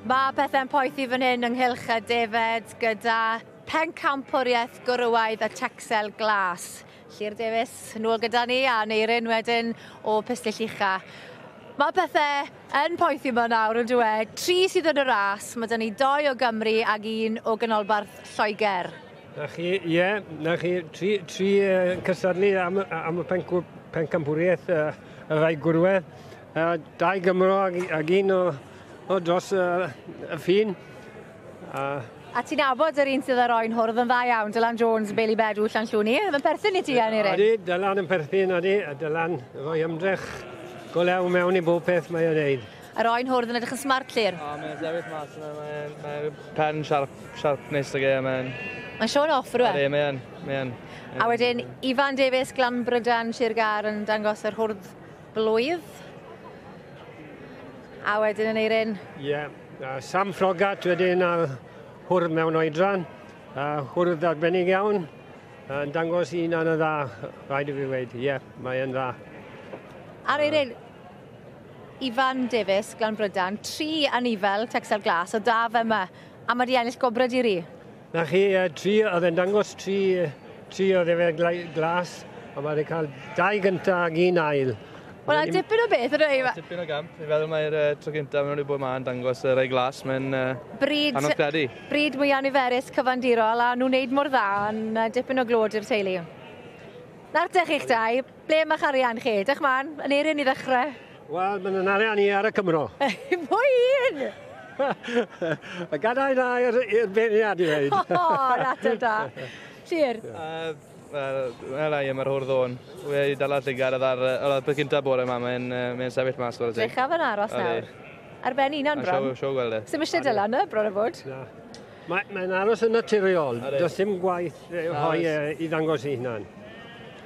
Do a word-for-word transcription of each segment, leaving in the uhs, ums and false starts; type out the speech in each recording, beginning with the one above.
Mae pethau'n poethi fan hyn ynghylch y defed gyda pencampwriaeth gwrywaidd y Texel Glas. Llyr Davies nôl gyda ni a Neirin wedyn o Pistyll Ucha. Mae pethau yn poethi yma nawr yn dweud. Tri sydd yn y ras, mae 'da ni doi o Gymru ag un o Ganolbarth Lloegr. Na chi, ie, yeah, na chi, tri, tri uh, cystadlu am, am y pencampwriaeth uh, y rai gwrwedd. Uh, dau Gymro ag, ag un o, o dros uh, y ffin. Uh, A ti'n nabod yr un sydd ar oen hwrdd yn dda iawn, Dylan Jones, Bailey Bedw, Llanllwni. Yn perthyn i ti, Aneirin? Odi, Dylan yn perthyn, odi. A Dylan rhoi ymdrech go lew mewn i bob peth mae o'n neud. Yr oen hwrdd yn edrych yn smart, Llyr? O, mae'n sefyll mas yna, mae'n mae pen sharp, sharp neis ag e, mae'n... Mae'n showing off, rwy'n? Odi, mae'n, mae'n. A wedyn, Ifan Davies, Glanbrydan, Sir Gâr yn dangos yr hwrdd blwydd. A wedyn yn Eirin? Ie, yeah. Sam Frogat wedyn a hwrdd mewn oedran. Uh, hwrdd arbennig iawn, yn dangos un yn y dda, rhaid i fi weud. Ie, yeah, mae'n dda. Ar Eirin, Ifan Davies, Glanbrydan, tri anifel Texel Glas o da fe yma, a mae di ennill gwobrau di-ri. Na chi, tri, oedd e'n dangos tri, tri o ddefed glas, a mae wedi cael dau gyntaf ac un ail. Wel, a dipyn o beth, ydy e? Dipyn o gamp. Fi'n feddwl mae'r uh, tro gyntaf maen nhw wedi bod yma yn dangos y rai glas. Mae'n uh, bryd, anodd credu. Bryd mwyaf niferus cyfandirol, a nhw'n neud mor dda yn uh, dipyn o glod i'r teulu. Nawr te chi'ch dau, ble mae'ch arian chi? Dych man, yn Eirin i ddechrau. Wel, mae'n arian i ar y Cymro. Pwy un? Y gadael na i'r beirniad i weud. O, na da. Llyr? Uh, Wel, wel, ai, mae'r hwrdd o'n. Wedi dala llygad ar y peth cyntaf bore yma, mae'n mae sefyll mas. Drychaf yn aros nawr. Ar ben unan bron. Siw, siw gweld e. Sim eisiau Dylan, y bron o fod? Na. Mae'n mae aros yn naturiol. Does dim gwaith rhoi i ddangos ei hunan.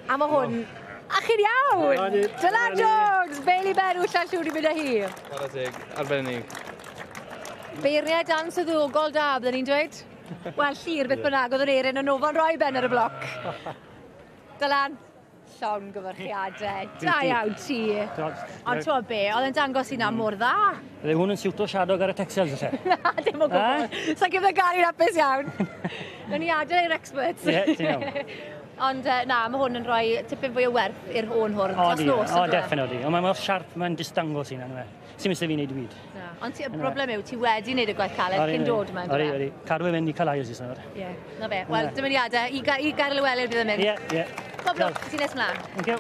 A mae hwn... A chi'n iawn! Dylan Jones, Bailey Berw, Llanllwni mynd â hi. Chwarae teg, arbennig. Beirniad answyddogol da, byddwn ni'n dweud. Wel, Llyr, beth bynnag, oedd yr Eirin yn ofan roi ben ar y bloc. Dylan, llongyfarchiadau. Da iawn ti. Ond ti'n be, oedd yn dangos i na mor dda. Bydde hwn yn siwto siadog ar y Texels, lle? Na, dim o gwbl. Sa'n gyda Gary'n hapus iawn. Nawn ni adael i'r experts. Ie, ti'n iawn. Ond na, mae hwn yn rhoi tipyn fwy o werth i'r hwn hwrdd dros nos. O, definitely. Ond mae'n mor siarp, mae'n distangos i na. Sy'n mysau fi wneud i byd. Ond y broblem yw, ti wedi wneud y gwaith caled cyn dod yma. Ori, ori. Cadw e fynd i cael ail sy'n. Ie, na fe. Wel, dymuniadau. I Gaer Llewelyn bydd yn mynd. Ie, ie. Pob lwc, ti'n nes mlaen. Thank you.